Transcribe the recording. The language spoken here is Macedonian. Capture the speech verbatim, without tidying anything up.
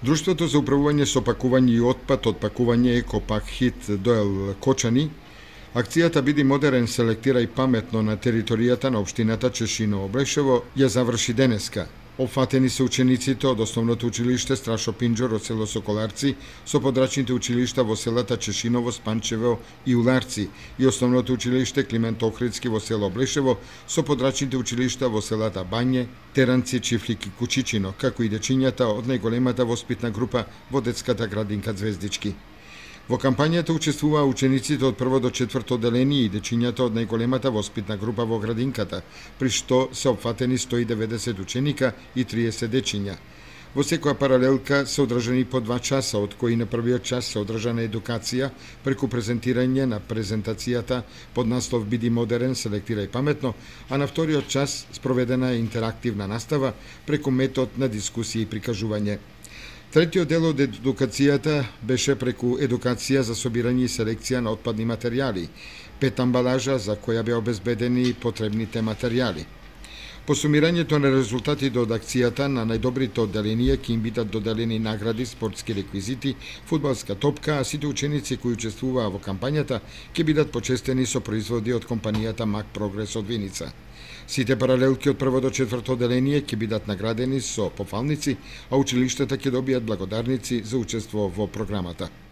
Друштвото за управување со пакување и отпад од пакување Екопак-Хит Доел Кочани, акцијата Биди модерен, селектирај паметно на територијата на општината Чешиново Блешево ја заврши денеска. Опфатени се учениците од основното училиште Страшо Пинџор од село Соколарци со подрачните училишта во селата Чешиново, Спанчево и Уларци и основното училиште Климент Охридски во село Блешево со подрачните училишта во селата Бање, Теранци, Чифлик и Кучичино, како и дечињата од најголемата воспитна група во детската градинка Звездички. Во кампањата учествуваа учениците од прво до четврто одделение и дечињата од најголемата воспитна група во градинката, при што се опфатени сто и деветдесет ученика и триесет дечиња. Во секоја паралелка се одржани по два часа, од кои на првиот час се одржана едукација преку презентирање на презентацијата под наслов Биди модерен, селектирај паметно, а на вториот час спроведена интерактивна настава преку метод на дискусија и прикажување. Третиот дел од едукацијата беше преку едукација за собирање и селекција на отпадни материјали, пет амбалажа за која беа обезбедени потребните материјали. По сумирањето на резултатите од акцијата на најдобрите одделенија ќе им бидат доделени награди, спортски реквизити, фудбалска топка, а сите ученици кои учествуваа во кампањата ќе бидат почестени со производи од компанијата Мак Прогрес од Виница. Сите паралелки од прво до четврто одделение ќе бидат наградени со пофалници, а училиштата ќе добијат благодарници за учество во програмата.